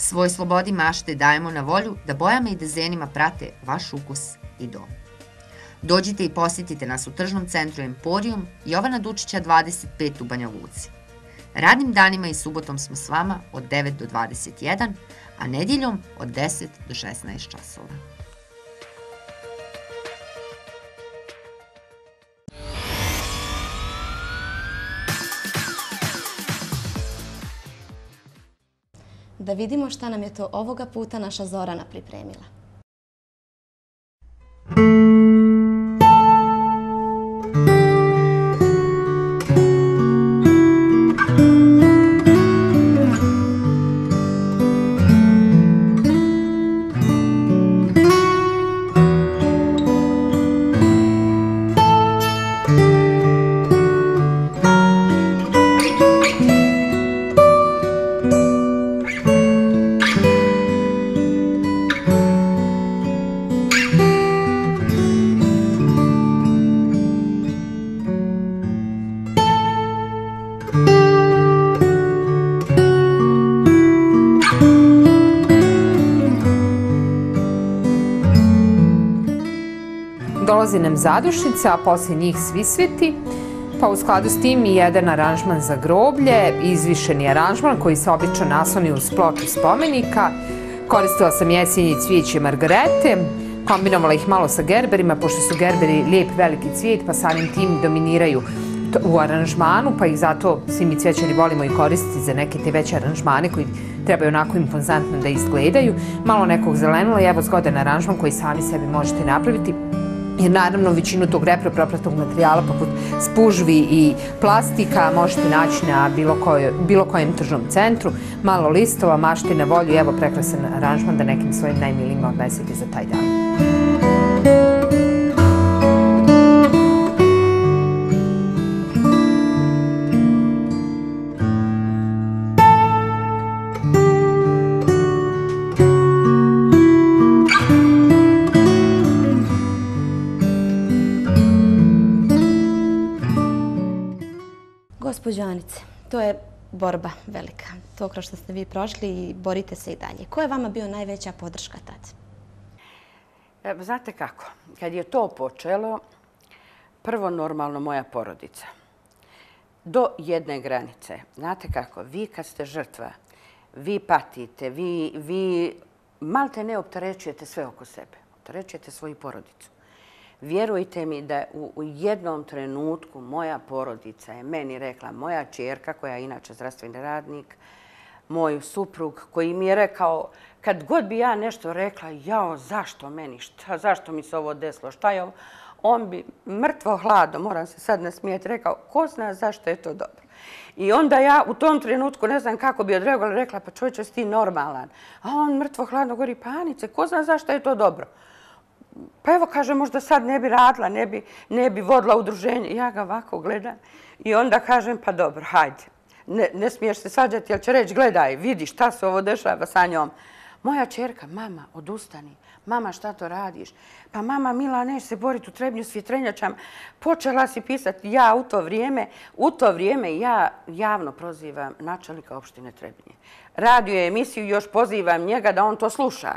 Svoj slobodi mašte dajemo na volju da bojama i dezenima prate vaš ukus i dom. Dođite i posjetite nas u tržnom centru Emporium Jovana Dučića dvadeset pet u Banja Luci. Radnim danima i subotom smo s vama od devet do dvadeset jedan, a nedjeljom od deset do šesnaest časova. Da vidimo šta nam je to ovoga puta naša Zorana pripremila. Dolazi nam zadušnica, a poslije njih svisveti, pa u skladu s tim i jedan aranžman za groblje, izvišeni aranžman koji se obično nasloni uz ploču spomenika. Koristila sam jesenje cvijeće margarete, kombinovala ih malo sa gerberima, pošto su gerberi lijep veliki cvijet, pa samim tim dominiraju u aranžmanu, pa ih zato svi mi cvijećari volimo i koristiti za neke te veće aranžmane koji trebaju onako impozantno da izgledaju. Malo nekog zelenila i evo zgodan aranžman koji sami sebi možete napraviti. Jer naravno većinu tog repropropratnog materijala poput spužvi i plastika možete naći na bilo kojem tržnom centru. Malo listova, mašte na volju i evo prekrasan aranžman da nekim svojim najmilijima odnesete za taj dan. Gospođo Anice, to je borba velika. To kroz što ste vi prošli i borite se i dalje. Ko je vama bio najveća podrška tad? Znate kako, kad je to počelo, prvo normalno moja porodica. Do jedne granice. Znate kako, vi kad ste žrtva, vi patite, vi, vi malte ne opterećujete sve oko sebe. Opterećujete svoju porodicu. Vjerujte mi da u, u jednom trenutku moja porodica je meni rekla, moja ćerka koja je inače zdravstveni radnik, moj suprug koji mi je rekao, kad god bi ja nešto rekla, jao, zašto meni, šta, zašto mi se ovo desilo, šta je ovo, on bi mrtvo hladno, moram se sad nasmijeti, rekao, ko zna zašto je to dobro. I onda ja u tom trenutku ne znam kako bi odreagovala, rekla, pa čovječe, si ti normalan. A on mrtvo hladno govori, pa Anice, ko zna zašto je to dobro. Pa evo, kaže, možda sad ne bi radila, ne bi, ne bi vodila udruženje. Ja ga ovako gledam i onda kažem, pa dobro, hajde. Ne, ne smiješ se sađati, jer će reći, gledaj, vidi šta se ovo dešava sa njom. Moja čerka, mama, odustani. Mama, šta to radiš? Pa mama, Mila, neš se boriti u Trebnju s vjetrenjačama. Počela si pisati. Ja u to vrijeme, u to vrijeme ja javno prozivam načelnika opštine Trebnje. Radio emisiju, još pozivam njega da on to sluša.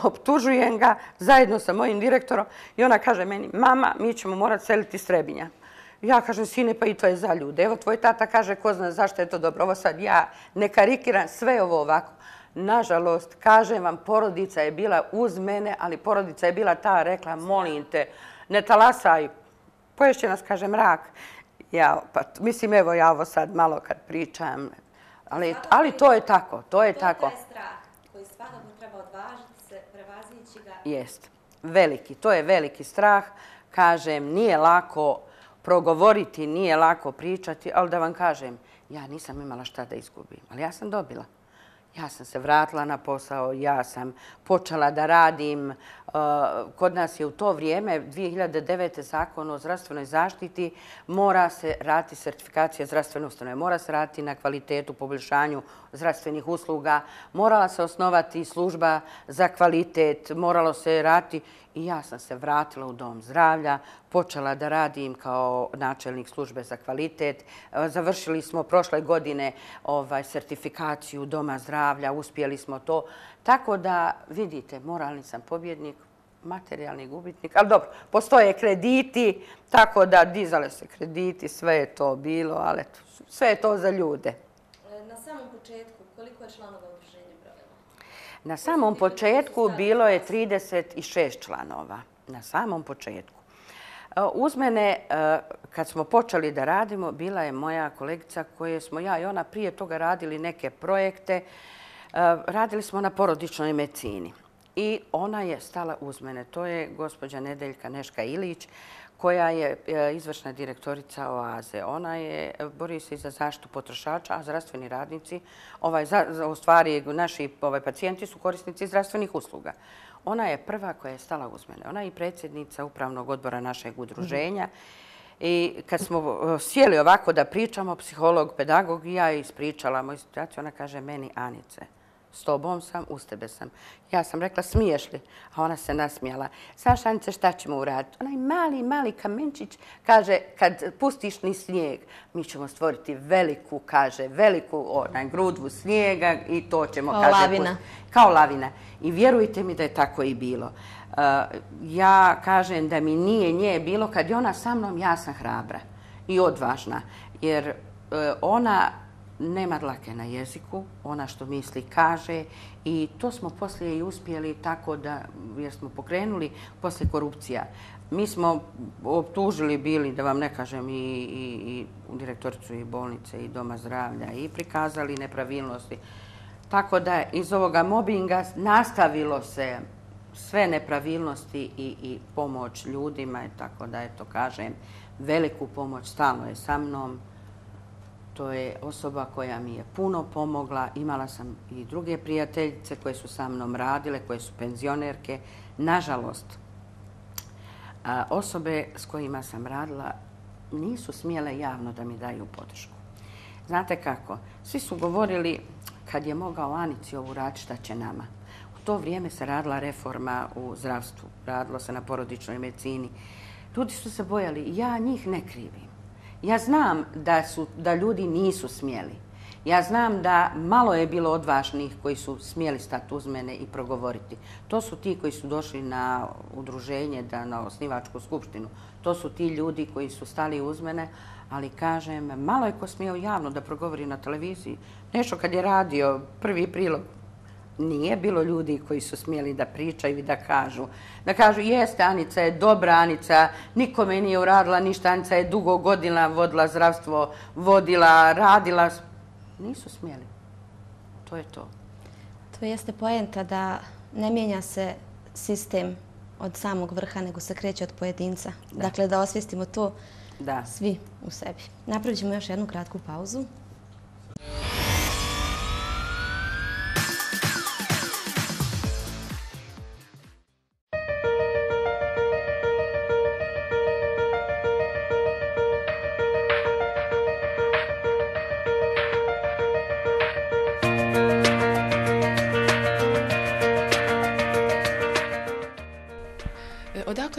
Optužujem ga zajedno sa mojim direktorom i ona kaže meni, mama, mi ćemo morati seliti iz Trebinja. Ja kažem, sine, pa i to je za ljude. Evo, tvoj tata kaže, ko zna zašto je to dobro. Ovo sad ja ne karikiram, sve ovo ovako. Nažalost, kažem vam, porodica je bila uz mene, ali porodica je bila ta, rekla, molim te, ne talasaj, poješće nas, kaže, mrak. Ja, pa, mislim, evo ja ovo sad malo kad pričam, ali, ali to je tako, to je tako. To je strah koji svakako treba odvažiti se, prevazići ga. Jest, veliki, to je veliki strah. Kažem, nije lako progovoriti, nije lako pričati, ali da vam kažem, ja nisam imala šta da izgubim, ali ja sam dobila. Ja sam se vratila na posao, ja sam počela da radim. Kod nas je u to vrijeme, dvije hiljade devete. zakon o zdravstvenoj zaštiti, mora se raditi sertifikacija zdravstvene ustanove, mora se raditi na kvalitetu, poboljšanju zdravstvenih usluga, morala se osnovati služba za kvalitet, moralo se raditi. I ja sam se vratila u dom zdravlja, počela da radim kao načelnik službe za kvalitet. Završili smo prošle godine ovaj, sertifikaciju doma zdravlja, uspjeli smo to. Tako da, vidite, moralni sam pobjednik, materijalni gubitnik, ali dobro, postoje krediti, tako da dizale se krediti, sve je to bilo, ali eto, sve je to za ljude. Na samom početku, koliko je članova udruženja brojilo? Na samom početku bilo je trideset šest članova. Na samom početku. Uz mene, kad smo počeli da radimo, bila je moja kolegica koje smo ja i ona prije toga radili neke projekte. Radili smo na porodičnoj medicini. I ona je stala uz mene. To je gospođa Nedeljka Neška Ilić, koja je izvršna direktorica Oaze. Ona je, bori se za zaštitu potrošača, a zdravstveni radnici, ovaj, za, u stvari naši ovaj, pacijenti su korisnici zdravstvenih usluga. Ona je prva koja je stala uz mene. Ona je i predsjednica upravnog odbora našeg udruženja. I kad smo sjeli ovako da pričamo, psiholog, pedagog, i ja je ispričala moju situaciju, ona kaže meni, Anice, s tobom sam, uz tebe sam. Ja sam rekla, smiješ li? A ona se nasmijala. Znaš, Anice, šta ćemo uraditi? Onaj mali, mali kamenčić, kaže, kad pustiš ni snijeg, mi ćemo stvoriti veliku, kaže, veliku onaj, grudvu snijega i to ćemo, kao kaže... lavina. Kao lavina. I vjerujte mi da je tako i bilo. Uh, ja kažem da mi nije nje bilo, kad je ona sa mnom, ja sam hrabra i odvažna. Jer uh, ona nema dlake na jeziku, ona što misli kaže i to smo poslije i uspjeli tako da, jer smo pokrenuli poslije korupcija. Mi smo optužili bili, da vam ne kažem, i, i, i direktoricu i bolnice i doma zdravlja i prikazali nepravilnosti. Tako da iz ovoga mobinga nastavilo se sve nepravilnosti i, i pomoć ljudima, tako da, eto, kažem, veliku pomoć stalno je sa mnom. To je osoba koja mi je puno pomogla. Imala sam i druge prijateljice koje su sa mnom radile, koje su penzionerke. Nažalost, osobe s kojima sam radila nisu smjele javno da mi daju podršku. Znate kako? Svi su govorili kad je mogao Anici ovu raditi, šta će nama. U to vrijeme se radila reforma u zdravstvu. Radilo se na porodičnoj medicini. Ljudi su se bojali. Ja njih ne krivim. Ja znam da, su, da ljudi nisu smjeli. Ja znam da malo je bilo odvažnih koji su smjeli stati uz mene i progovoriti. To su ti koji su došli na udruženje, da, na osnivačku skupštinu. To su ti ljudi koji su stali uz mene, ali kažem, malo je ko smio javno da progovori na televiziji. Nešto kad je radio prvi prilog, nije bilo ljudi koji su smjeli da pričaju i da kažu. Da kažu, jeste, Anica je dobra, Anica nikome nije uradila ništa, Anica je dugo godina vodila zdravstvo, vodila, radila. Nisu smjeli. To je to. To jeste poenta da ne mijenja se sistem od samog vrha, nego se kreće od pojedinca. Da. Dakle, da osvijestimo to da. Svi u sebi. Napravit ćemo još jednu kratku pauzu.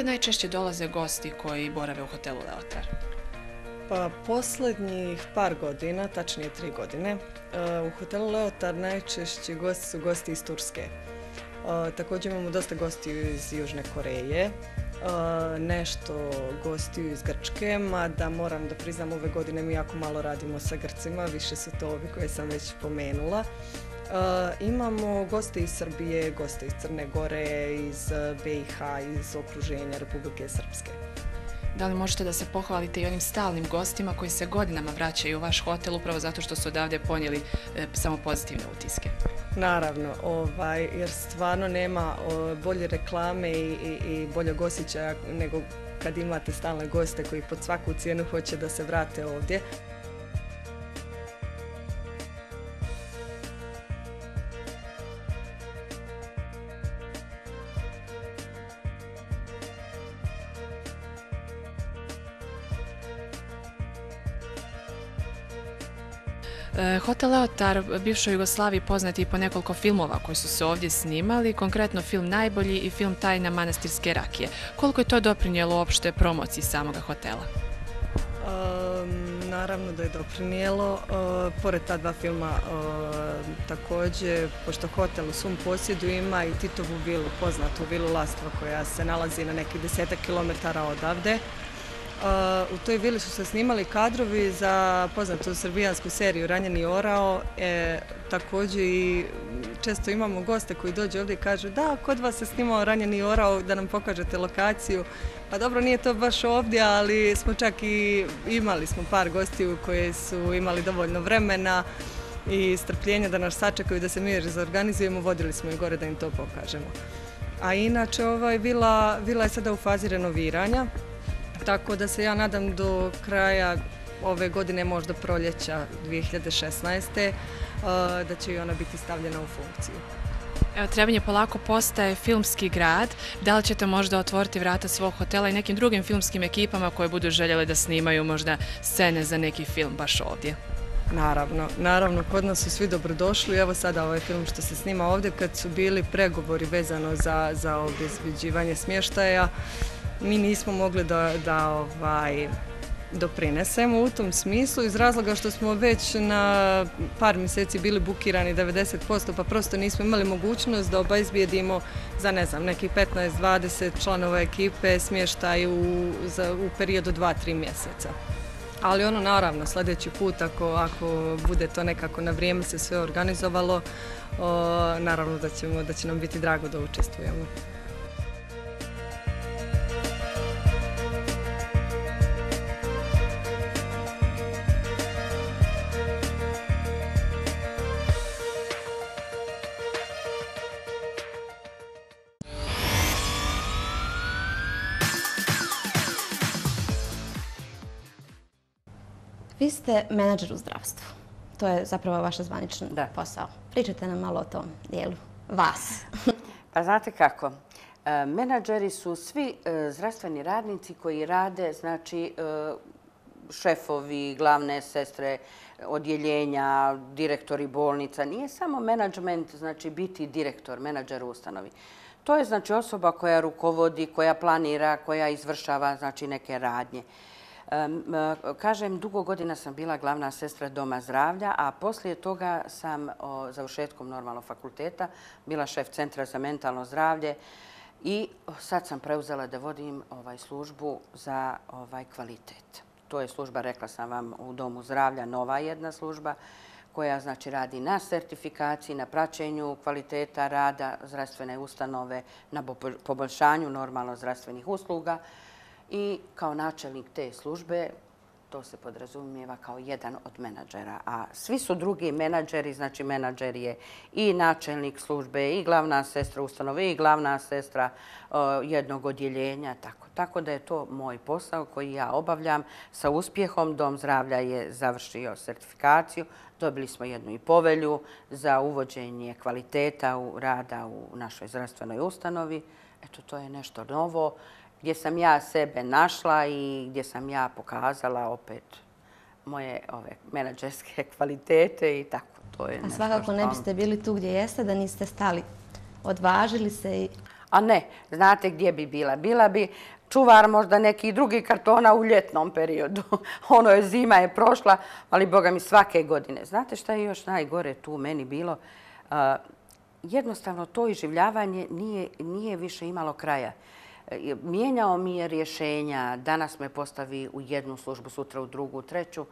Odakle najčešće dolaze gosti koji borave u hotelu Leotar? Pa posljednjih par godina, tačnije tri godine, u hotelu Leotar najčešći gosti su gosti iz Turske. Također imamo dosta gostiju iz Južne Koreje, nešto gostiju iz Grčke, mada moram da priznam ove godine mi jako malo radimo sa Grcima, više su to ovi koje sam već pomenula. Imamo goste iz Srbije, goste iz Crne Gore, iz B i H, iz okruženja Republike Srpske. Da li možete da se pohvalite i onim stalnim gostima koji se godinama vraćaju u vaš hotel upravo zato što su odavde ponijeli e, samo pozitivne utiske? Naravno, ovaj, jer stvarno nema o, bolje reklame i, i, i boljeg osjećaja nego kad imate stalne goste koji pod svaku cijenu hoće da se vrate ovdje. Hotel Leotar bivšoj Jugoslaviji poznat je i po nekoliko filmova koji su se ovdje snimali, konkretno film Najbolji i film Tajna manastirske rakije. Koliko je to doprinijelo uopšte promociji samoga hotela? Um, naravno da je doprinijelo. Uh, pored ta dva filma uh, također, pošto hotel u svom posjedu ima i Titovu vilu, poznatu vilu Lastva koja se nalazi na nekih desetak kilometara odavde. Uh, u toj vili su se snimali kadrovi za poznatu srbijansku seriju Ranjeni orao. E, također i često imamo goste koji dođu ovdje i kažu da, kod vas se snimao Ranjeni orao, da nam pokažete lokaciju. Pa dobro, nije to baš ovdje, ali smo čak i imali smo par gostiju koji su imali dovoljno vremena i strpljenja da nas sačekaju da se mi organizujemo, vodili smo i gore da im to pokažemo. A inače, ovaj, vila, vila je sada u fazi renoviranja. Tako da se ja nadam do kraja ove godine, možda proljeća dvije hiljade šesnaeste. da će i ona biti stavljena u funkciju. Evo, Trebinje polako postaje filmski grad. Da li ćete možda otvoriti vrata svog hotela i nekim drugim filmskim ekipama koje budu željele da snimaju možda scene za neki film baš ovdje? Naravno, naravno, kod nas su svi dobrodošli. Evo sada ovaj film što se snima ovdje, kad su bili pregovori vezano za, za obezbeđivanje smještaja, mi nismo mogli da, da ovaj, doprinesemo u tom smislu iz razloga što smo već na par mjeseci bili bukirani devedeset posto, pa prosto nismo imali mogućnost da obezbijedimo za ne znam, neki petnaest dvadeset članova ekipe smještaj u, za, u periodu dva tri mjeseca. Ali ono, naravno, sljedeći put, ako, ako bude to nekako na vrijeme se sve organizovalo, o, naravno da, ćemo, da će nam biti drago da učestvujemo. Vi ste menadžer u zdravstvu. To je zapravo vaš zvaničan posao. Pričajte nam malo o tom dijelu. Vas. Pa znate kako, menadžeri su svi zdravstveni radnici koji rade, znači šefovi, glavne sestre, odjeljenja, direktori bolnica. Nije samo menadžment, znači biti direktor, menadžer u ustanovi. To je znači osoba koja rukovodi, koja planira, koja izvršava znači neke radnje. Kažem, dugo godina sam bila glavna sestra Doma zdravlja, a poslije toga sam završetkom normalnog fakulteta bila šef Centra za mentalno zdravlje i sad sam preuzela da vodim ovaj, službu za ovaj, kvalitet. To je služba, rekla sam vam, u Domu zdravlja, nova jedna služba koja znači radi na sertifikaciji, na praćenju kvaliteta rada zdravstvene ustanove, na poboljšanju normalno zdravstvenih usluga. I kao načelnik te službe, to se podrazumijeva kao jedan od menadžera. A svi su drugi menadžeri, znači menadžer je i načelnik službe, i glavna sestra ustanove, i glavna sestra uh, jednog odjeljenja. Tako. tako da je to moj posao koji ja obavljam sa uspjehom. Dom zdravlja je završio sertifikaciju. Dobili smo jednu i povelju za uvođenje kvaliteta u rada u našoj zdravstvenoj ustanovi. Eto, to je nešto novo, gdje sam ja sebe našla i gdje sam ja pokazala opet moje ove menadžerske kvalitete i tako. To je A svakako ne biste bili tu gdje jeste da niste stali. Odvažili se i... A ne, znate gdje bi bila? Bila bi čuvar možda neki drugi kartona u ljetnom periodu. Ono je, zima je prošla, ali boga mi svake godine. Znate šta je još najgore tu meni bilo? Jednostavno to iživljavanje nije više imalo kraja. Mijenjao mi je rješenja, danas me postavi u jednu službu, sutra u drugu, u treću.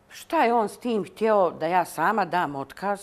Šta je on s tim htio da ja sama dam otkaz?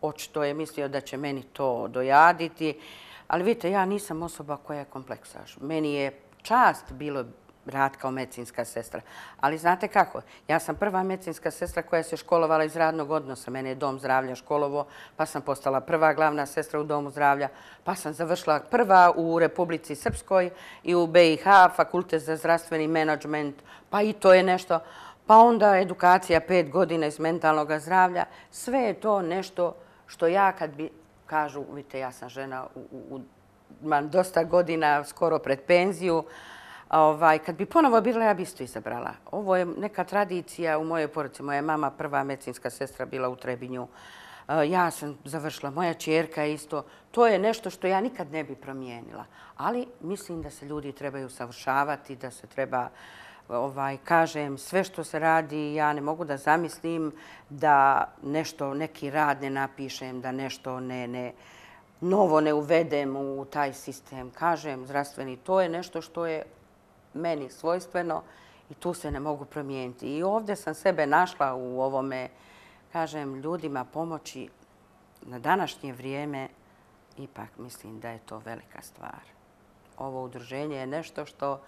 Očito je mislio da će meni to dojaditi. Ali vidite, ja nisam osoba koja je kompleksaš. Meni je čast bilo rad kao medicinska sestra. Ali znate kako? Ja sam prva medicinska sestra koja se školovala iz radnog odnosa. Mene je Dom zdravlja školovo, pa sam postala prva glavna sestra u Domu zdravlja, pa sam završila prva u Republici Srpskoj i u B i H, Fakultet za zdravstveni menadžment, pa i to je nešto. Pa onda edukacija pet godina iz mentalnog zdravlja. Sve je to nešto što ja kad bi, kažu, vidite, ja sam žena, imam dosta godina, skoro pred penziju, kad bi ponovo bila, ja bi isto izabrala. Ovo je neka tradicija u mojoj porodici. Moja mama, prva medicinska sestra, bila u Trebinju. Ja sam završila, moja ćerka isto. To je nešto što ja nikad ne bi promijenila. Ali mislim da se ljudi trebaju usavršavati, da se treba, kažem, sve što se radi, ja ne mogu da zamislim da nešto, neki rad ne napišem, da nešto ne novo ne uvedem u taj sistem. Kažem, zdravstveni, to je nešto što je meni svojstveno i tu se ne mogu promijeniti. I ovdje sam sebe našla u ovome, kažem, ljudima pomoći na današnje vrijeme. Ipak mislim da je to velika stvar. Ovo udruženje je nešto što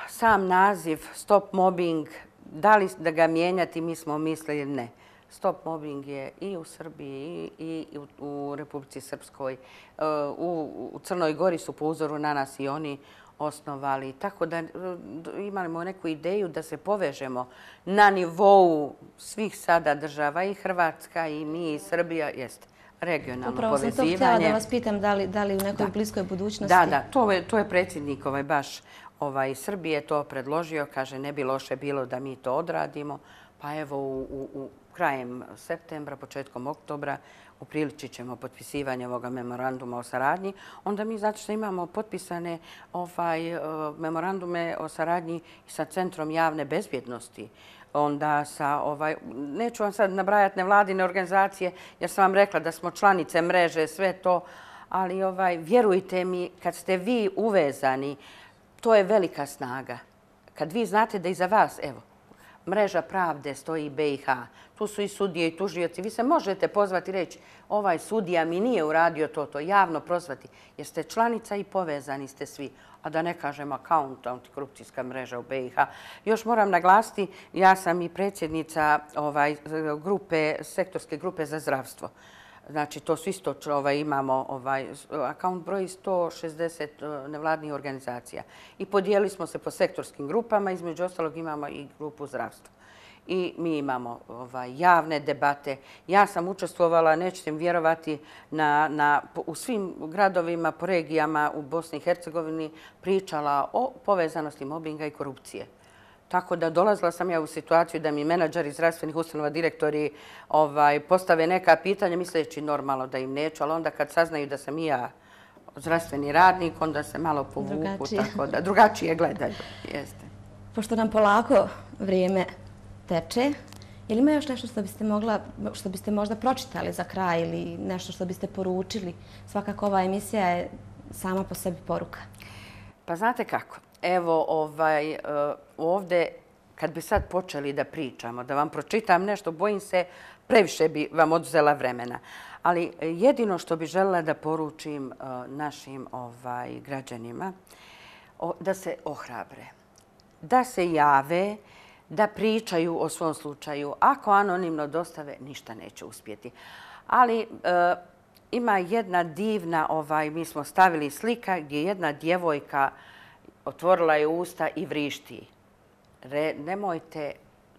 sam naziv Stop Mobbing, da li da ga mijenjati, mi smo mislili ne. Stop Mobbing je i u Srbiji i u Republici Srpskoj. U Crnoj Gori su po uzoru na nas i oni osnovali. Tako da imamo neku ideju da se povežemo na nivou svih sada država, i Hrvatska, i mi, i Srbija, jeste regionalno povezivanje. Upravo sam to htjela da vas pitam da li u nekoj bliskoj budućnosti... Da, da, to je predsjednik baš Srbije to predložio. Kaže, ne bi loše bilo da mi to odradimo. Pa evo, u krajem septembra, početkom oktobra, upriličit ćemo potpisivanje ovoga memoranduma o saradnji. Onda mi, zato što imamo potpisane memorandume o saradnji sa Centrom javne bezbjednosti, onda sa, neću vam sad nabrajati nevladine organizacije, jer sam vam rekla da smo članice mreže, sve to, ali vjerujte mi, kad ste vi uvezani, to je velika snaga. Kad vi znate da iza vas, evo, Mreža pravde stoji B i H. Tu su i sudije i tužioci. Vi se možete pozvati i reći ovaj sudija mi nije uradio to, to javno prozvati. Jer ste članica i povezani ste svi. A da ne kažem akaunt, antikorupcijska mreža u B i H. Još moram naglasiti, ja sam i predsjednica sektorske grupe za zdravstvo. Znači, to su isto, imamo akaunt broj sto šezdeset nevladnih organizacija. I podijelili smo se po sektorskim grupama, između ostalog imamo i grupu zdravstva. I mi imamo javne debate. Ja sam učestvovala, nećete mi vjerovati, u svim gradovima, po regijama u Bosni i Hercegovini pričala o povezanosti mobinga i korupcije. Tako da dolazila sam ja u situaciju da mi menadžeri zdravstvenih ustanova, direktori postave neka pitanja misleći normalno da im neću, ali onda kad saznaju da sam i ja zdravstveni radnik, onda se malo povuku, tako da drugačije gledaju. Pošto nam polako vrijeme teče, je li ima još nešto što biste možda pročitali za kraj ili nešto što biste poručili? Svakako ova emisija je sama po sebi poruka. Pa znate kako? Evo, ovdje, kad bi sad počeli da pričamo, da vam pročitam nešto, bojim se, previše bi vam oduzela vremena. Ali jedino što bi želela da poručim našim građanima, da se ohrabre, da se jave, da pričaju o svom slučaju. Ako anonimno dostave, ništa neće uspjeti. Ali ima jedna divna, mi smo stavili slika gdje jedna djevojka otvorila je usta i vrišti. Nemojte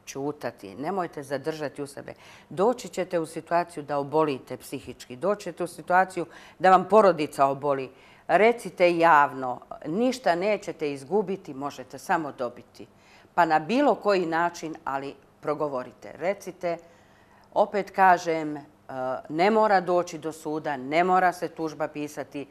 ćutati, nemojte zadržati u sebe. Doći ćete u situaciju da obolite psihički, doći ćete u situaciju da vam porodica oboli. Recite javno, ništa nećete izgubiti, možete samo dobiti. Pa na bilo koji način, ali progovorite. Recite, opet kažem, ne mora doći do suda, ne mora se tužba pisati.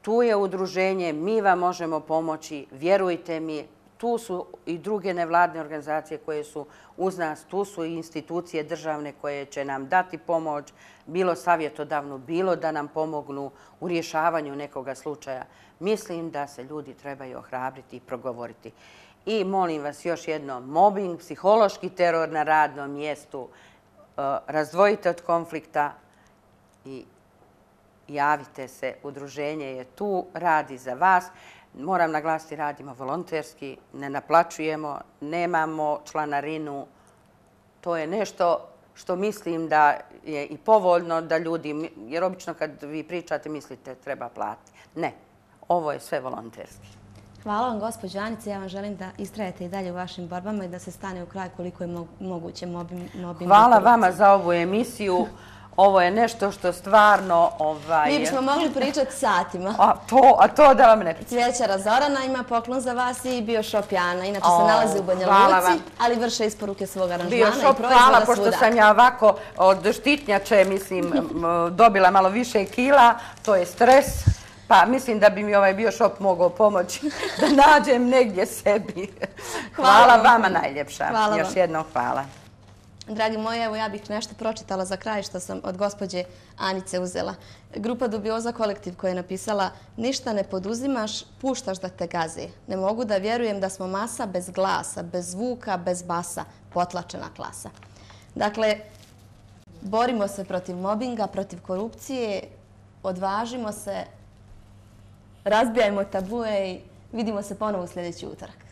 Tu je udruženje, mi vam možemo pomoći, vjerujte mi. Tu su i druge nevladne organizacije koje su uz nas, tu su i institucije državne koje će nam dati pomoć, bilo savjetodavno, bilo da nam pomognu u rješavanju nekoga slučaja. Mislim da se ljudi trebaju ohrabriti i progovoriti. I molim vas još jedno, mobbing, psihološki teror na radnom mjestu, razdvojite od konflikta i javite se. Udruženje je tu, radi za vas. Moram naglasiti, radimo volonterski, ne naplaćujemo, nemamo članarinu. To je nešto što mislim da je i povoljno da ljudi, jer obično kad vi pričate mislite treba platiti. Ne, ovo je sve volonterski. Hvala vam, gospođo Anice. Ja vam želim da istrajete i dalje u vašim borbama i da se stane u kraj koliko je moguće mobbingu. Hvala vama za ovu emisiju. Ovo je nešto što stvarno... Mi bismo mogli pričati satima. A to da vam ne pričam. Cvijećara Zorana ima poklon za vas i Bioshop Jana. Inače se nalazi u Banja Luci, ali vrše isporuke svog aranžmana i proizvoda svuda. Hvala, pošto sam ja ovako od štitnjače, mislim, dobila malo više kila. To je stres. Pa mislim da bi mi ovaj Bioshop mogao pomoći da nađem negdje sebi. Hvala vama najljepša. Još jednom hvala. Dragi moji, evo ja bih nešto pročitala za kraj što sam od gospođe Anice uzela. Grupa Dubioza kolektiv koja je napisala: ništa ne poduzimaš, puštaš da te gazi. Ne mogu da vjerujem da smo masa bez glasa, bez zvuka, bez basa, potlačena klasa. Dakle, borimo se protiv mobinga, protiv korupcije, odvažimo se, razbijajmo tabue i vidimo se ponovo u sljedeći utorak.